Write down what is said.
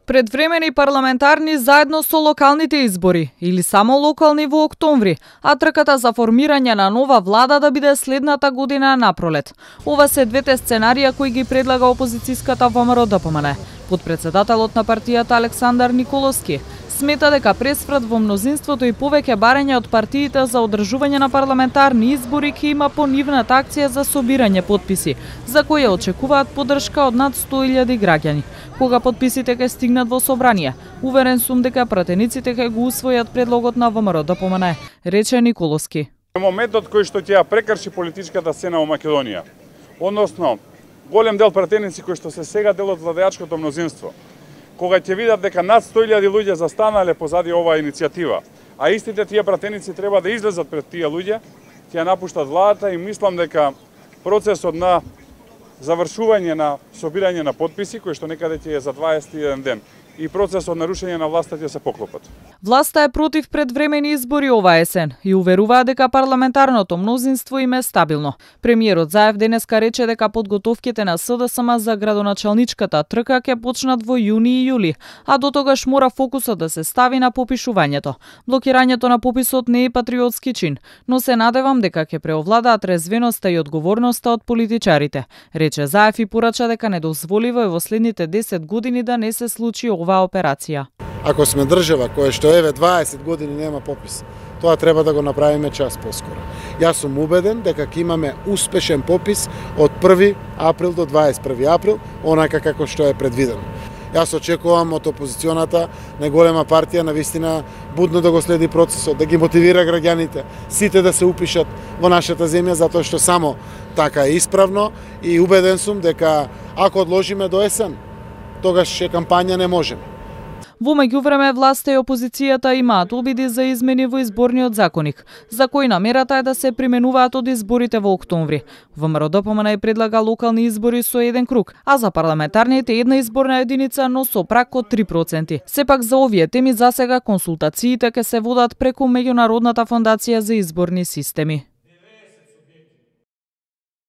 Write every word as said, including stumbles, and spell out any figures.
Предвремени парламентарни заедно со локалните избори или само локални во октомври, а трката за формирање на нова влада да биде следната година напролет. Ова се двете сценарија кои ги предлага опозицијската ВМРО-ДПМН. Подпредседателот на партијата Александар Николовски смета дека пресврат во мнозинството и повеќе барања од партиите за одржување на парламентарни избори ќе има по нивната акција за собирање потписи, за која очекуваат поддршка од над сто илјади граѓани. Кога потписите ќе стигнат во собрание, уверен сум дека пратениците ќе го усвојат предлогот на ВМРО-ДПМН, рече Николовски. Моментот кој што ќе ја прекрши политичката сцена во Македонија, односно голем дел пратеници кои што се сега дел од владеачкото мнозинство, кога ќе видат дека над сто илјади луѓе застанале позади оваа иницијатива, а истите тие пратеници треба да излезат пред тие луѓе, ќе ја напуштат владата и мислам дека процесот на завршување на собирање на потписи, кој што некаде ќе е за дваесет и еден ден, и процесот на рушење на власта ќе се поклопат. Власта е против предвремени избори оваа есен и уверува дека парламентарното мнозинство им е стабилно. Премиерот Заев денеска рече дека подготовките на СДСМ за градоначалничката трка ќе почнат во јуни и јули, а до тогаш мора фокусот да се стави на попишувањето. Блокирањето на пописот не е патриотски чин, но се надевам дека ќе преовладаат резвеноста и одговорноста од политичарите, рече Заев и порача дека недозволиво е во следните десет години да не се случи оваа операција. Ако сме држава која што еве дваесет години нема попис, тоа треба да го направиме час поскоро. Јас сум убеден дека ќе имаме успешен попис од први април до дваесет и први април, онака како што е предвидено. Јас очекувам од опозиционата најголема партија на вистина будно да го следи процесот, да ги мотивира граѓаните, сите да се упишат во нашата земја, затоа што само така е исправно и убеден сум дека ако одложиме до есен, тогаш ќе кампања не можеме. Во меѓувреме власта и опозицијата имаат обиди за измени во изборниот законник, за кои намерата е да се применуваат од изборите во октомври. ВМРО-ДПМН предлага локални избори со еден круг, а за парламентарните една изборна единица, но со праг од три проценти. Сепак за овие теми засега консултациите ќе се водат преку Меѓународната фондација за изборни системи.